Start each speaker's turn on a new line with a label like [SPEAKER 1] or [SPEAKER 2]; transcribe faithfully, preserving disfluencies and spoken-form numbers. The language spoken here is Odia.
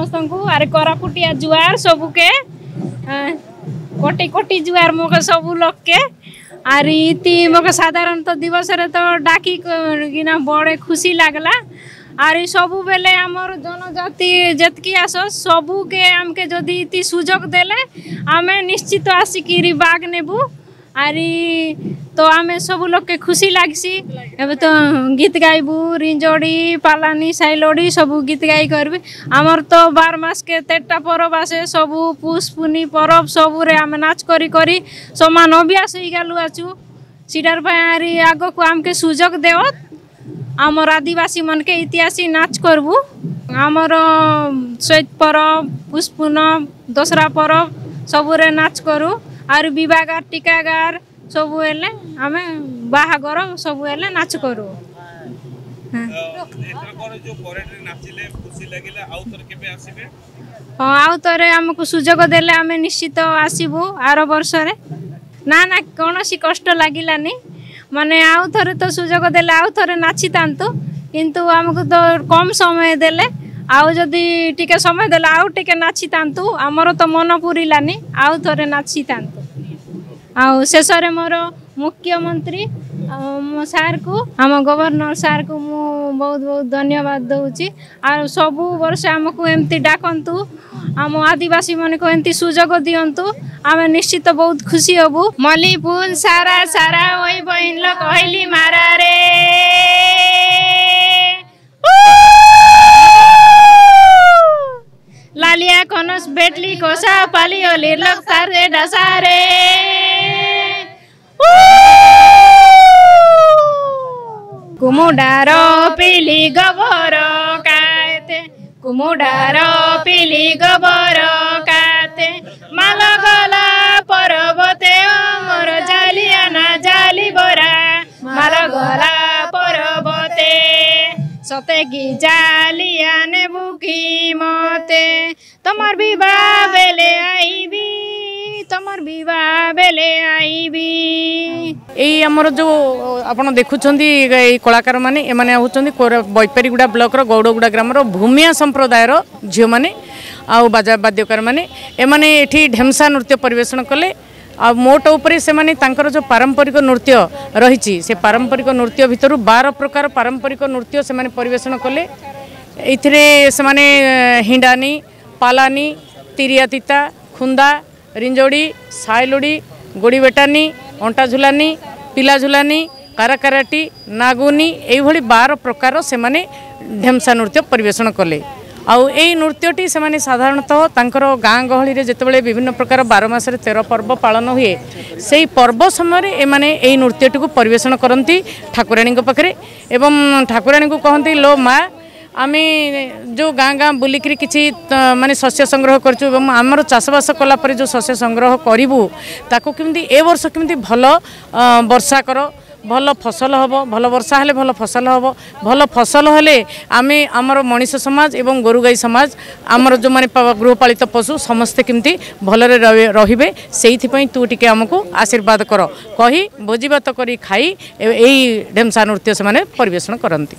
[SPEAKER 1] ସମସ୍ତଙ୍କୁ। ଆରେ କୋରାପୁଟିଆ ଜୁଆର ସବୁକେ, କୋଟି କୋଟି ଜୁଆର ମୋକେ ସବୁ ଲୋକକେ। ଆର୍ ଇତି ମୋକେ ସାଧାରଣତଃ ଦିବସରେ ତ ଡାକି କିନା ବଡ଼େ ଖୁସି ଲାଗଲା। ଆର୍ ସବୁବେଲେ ଆମର ଜନଜାତି ଯେତ୍କି ଆସ ସବୁକେ ଆମକେ ଯଦି ଇତି ସୁଯୋଗ ଦେଲେ ଆମେ ନିଶ୍ଚିତ ଆସିକିରି ବାଗ ନେବୁ। ଆରି ତ ଆମେ ସବୁ ଲୋକେ ଖୁସି ଲାଗ୍ସି। ଏବେ ତ ଗୀତ ଗାଇବୁ, ରିଞ୍ଜଡ଼ି, ପାଲାନି, ସାଇଲୋଡ଼ି ସବୁ ଗୀତ ଗାଇ କରିବି। ଆମର ତ ବାର ମାସକେ ତେରଟା ପରବ ଆସେ, ସବୁ ପୁଷ ପୁନି ପରବ ସବୁରେ ଆମେ ନାଚ କରି କରି ସମାନ ଅଭ୍ୟାସ ହେଇଗଲୁ ଅଛୁ। ସେଟାର ପାଇଁ ଆରି ଆଗକୁ ଆମକେ ସୁଯୋଗ ଦେଅ, ଆମର ଆଦିବାସୀ ମାନକେ ଇତିହାସୀ ନାଚ କରବୁ। ଆମର ଚୈତ ପରବ, ପୁଷ ପୁନମ, ଦଶହରା ପରବ ସବୁରେ ନାଚ କରୁ। ଆରୁ ବିବାହଗାର, ଟିକାଗାର ସବୁ ହେଲେ ଆମେ ବାହାଘର ସବୁ ହେଲେ ନାଚ କରୁ। ହଁ, ଆଉ ଥରେ ଆମକୁ ସୁଯୋଗ ଦେଲେ ଆମେ ନିଶ୍ଚିତ ଆସିବୁ ଆର ବର୍ଷରେ। ନା ନା, କୌଣସି କଷ୍ଟ ଲାଗିଲାନି। ମାନେ ଆଉ ଥରେ ତ ସୁଯୋଗ ଦେଲେ ଆଉ ଥରେ ନାଚିଥାନ୍ତୁ, କିନ୍ତୁ ଆମକୁ ତ କମ୍ ସମୟ ଦେଲେ। ଆଉ ଯଦି ଟିକେ ସମୟ ଦେଲେ ଆଉ ଟିକେ ନାଚିଥାନ୍ତୁ। ଆମର ତ ମନ ପୁରିଲାନି, ଆଉ ଥରେ ନାଚିଥାନ୍ତୁ। ଆଉ ଶେଷରେ ମୋର ମୁଖ୍ୟମନ୍ତ୍ରୀ ମୋ ସାର୍କୁ, ଆମ ଗଭର୍ଣ୍ଣର ସାର୍କୁ ମୁଁ ବହୁତ ବହୁତ ଧନ୍ୟବାଦ ଦେଉଛି। ଆଉ ସବୁ ବର୍ଷ ଆମକୁ ଏମିତି ଡାକନ୍ତୁ, ଆମ ଆଦିବାସୀମାନଙ୍କୁ ଏମିତି ସୁଯୋଗ ଦିଅନ୍ତୁ, ଆମେ ନିଶ୍ଚିତ ବହୁତ ଖୁସି ହବୁ। ମଲି ଫୁଲ ସାରା ସାରା ଓଇ ବହିଲ କହିଲି ମାରାରେ, ଲାଲିଆ କନସ ବେଟଲି କୋସା ପାଲି ଓଲି ଲକ୍ତାରେ ଡାସାରେ, କୁମୁଡାର ପିଲି ଗୋବର କାତେ, କୁମୁଡାର ପିଲି ଗୋବର କାତେ, ମାଲ ଗଲା ପର୍ବତେ ମୋର ଜାଲିଆ ନା ଜାଲି ବରା, ମାଲ ଗଲା ପର୍ବତେ। ସତେ କି ଜାଲିଆ ନେବୁ କି ମତେ, ତମର ବିବାହ ବେଲେ ଆଇବି, ତମର ବିବାହ ବେଲେ ଆଇବି।
[SPEAKER 2] ଏଇ ଆମର ଯେଉଁ ଆପଣ ଦେଖୁଛନ୍ତି ଏଇ କଳାକାରମାନେ, ଏମାନେ ହେଉଛନ୍ତି ବୈପାରିଗୁଡ଼ା ବ୍ଲକର ଗୌଡ଼ଗୁଡ଼ା ଗ୍ରାମର ଭୂମିଆ ସମ୍ପ୍ରଦାୟର ଝିଅମାନେ ଆଉ ବାଜା ବାଦ୍ୟକାରମାନେ। ଏମାନେ ଏଠି ଢେମସା ନୃତ୍ୟ ପରିବେଷଣ କଲେ। ଆଉ ମୋଟ ଉପରେ ସେମାନେ ତାଙ୍କର ଯେଉଁ ପାରମ୍ପରିକ ନୃତ୍ୟ ରହିଛି, ସେ ପାରମ୍ପରିକ ନୃତ୍ୟ ଭିତରୁ ବାର ପ୍ରକାର ପାରମ୍ପରିକ ନୃତ୍ୟ ସେମାନେ ପରିବେଷଣ କଲେ। ଏଇଥିରେ ସେମାନେ ହିଣ୍ଡାନି, ପାଲାନି, ତିରିଆ ତିତା, ଖୁନ୍ଦା, ରିଞ୍ଜୋଡ଼ି, ସାଇଲୋଡ଼ି, ଗୋଡ଼ି ବେଟାନି, ଅଣ୍ଟା ଝୁଲାନି, ପିଲା ଝୁଲାନି, କାରାକାରାଟି, ନାଗୁନି, ଏଇଭଳି ବାର ପ୍ରକାର ସେମାନେ ଢେମସା ନୃତ୍ୟ ପରିବେଷଣ କଲେ। ଆଉ ଏଇ ନୃତ୍ୟଟି ସେମାନେ ସାଧାରଣତଃ ତାଙ୍କର ଗାଁ ଗହଳିରେ ଯେତେବେଳେ ବିଭିନ୍ନ ପ୍ରକାର ବାର ମାସରେ ତେର ପର୍ବ ପାଳନ ହୁଏ, ସେଇ ପର୍ବ ସମୟରେ ଏମାନେ ଏଇ ନୃତ୍ୟଟିକୁ ପରିବେଷଣ କରନ୍ତି ଠାକୁରାଣୀଙ୍କ ପାଖରେ। ଏବଂ ଠାକୁରାଣୀଙ୍କୁ କହନ୍ତି, ଲୋ ମା, ଆମେ ଯେଉଁ ଗାଁ ଗାଁ ବୁଲିକିରି କିଛି ମାନେ ଶସ୍ୟ ସଂଗ୍ରହ କରୁଛୁ ଏବଂ ଆମର ଚାଷବାସ କଲା ପରେ ଯେଉଁ ଶସ୍ୟ ସଂଗ୍ରହ କରିବୁ, ତାକୁ କେମିତି ଏ ବର୍ଷ କେମିତି ଭଲ ବର୍ଷା କର, ଭଲ ଫସଲ ହେବ। ଭଲ ବର୍ଷା ହେଲେ ଭଲ ଫସଲ ହେବ, ଭଲ ଫସଲ ହେଲେ ଆମେ ଆମର ମଣିଷ ସମାଜ ଏବଂ ଗୋରୁ ଗାଈ ସମାଜ, ଆମର ଯେଉଁମାନେ ଗୃହପାଳିତ ପଶୁ ସମସ୍ତେ କେମିତି ଭଲରେ ରହିବେ, ସେଇଥିପାଇଁ ତୁ ଟିକେ ଆମକୁ ଆଶୀର୍ବାଦ କର କହି ଭୋଜିଭାତ କରି ଖାଇ ଏଇ ଢେମସା ନୃତ୍ୟ ସେମାନେ ପରିବେଷଣ କରନ୍ତି।